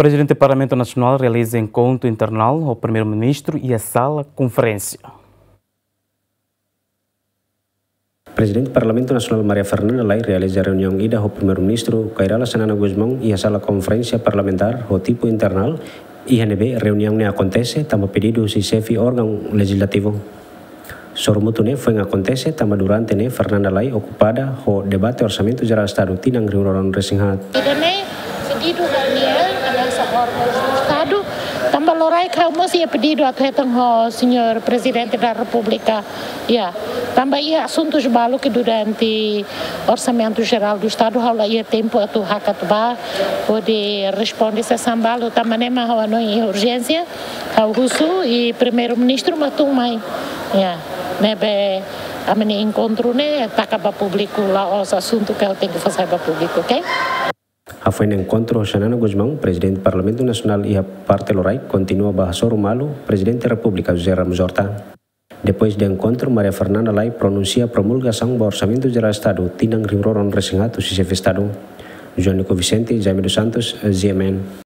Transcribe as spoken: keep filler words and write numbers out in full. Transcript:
Prezidente Parlamentu Nasionál realiza enkontru internal ho Primeiru-Ministru iha sala konferénsia. Prezidente Parlamentu Nasionál Maria Fernanda Lay realiza reuniaun ida ho Primeiru-Ministru Kay Rala Xanana Gusmão iha sala konferénsia parlamentár ho tipu internal, iha ne'ebé reuniaun ne'e akontese tanba pedidu husi xefe órgaun lejizlativu. Sorumutu ne'e foin akontese tanba durante ne'e Fernanda Lay okupada ho debate Orsamentu Jerál Estadu tinan rihun rua ruanulu-resin-haat. Ida-ne'e pedidu ha'u-nia hanesan órgaun Estadu, tanba loraik ha'u mós iha pedidu atu hetan ho Señór Prezidente da Repúblika. Ya, tanba iha asuntus balu ke durante Orsamentu Jerál do Estadu ha'u la iha tempu atu hakat bá hodi responde sasán balu, tanba ne'e mak ha'u hanoin iha urjénsia, ha'u husu i Primeiru-Ministru mak tun mai. Ya, ne'ebé ami-nia enkontru ne'e taka ba públiku, la'ós asuntu ke ha'u tenke fó sai ba públiku, oke? Hafoin enkontru ho Xanana Gusmão, Prezidente Parlamentu Nasionál iha parte loraik kontinua bá hasoru malu Prezidente Repúblika José Ramos Horta. Depois de enkontru, Maria Fernanda Lay pronunsia promulgasaun ba Orsamentu Jerál Estadu tinan rihun rua ruanulu-resin-haat husi Xefe Estadu. João Nico Vicente, Jaime dos Santos, G M N.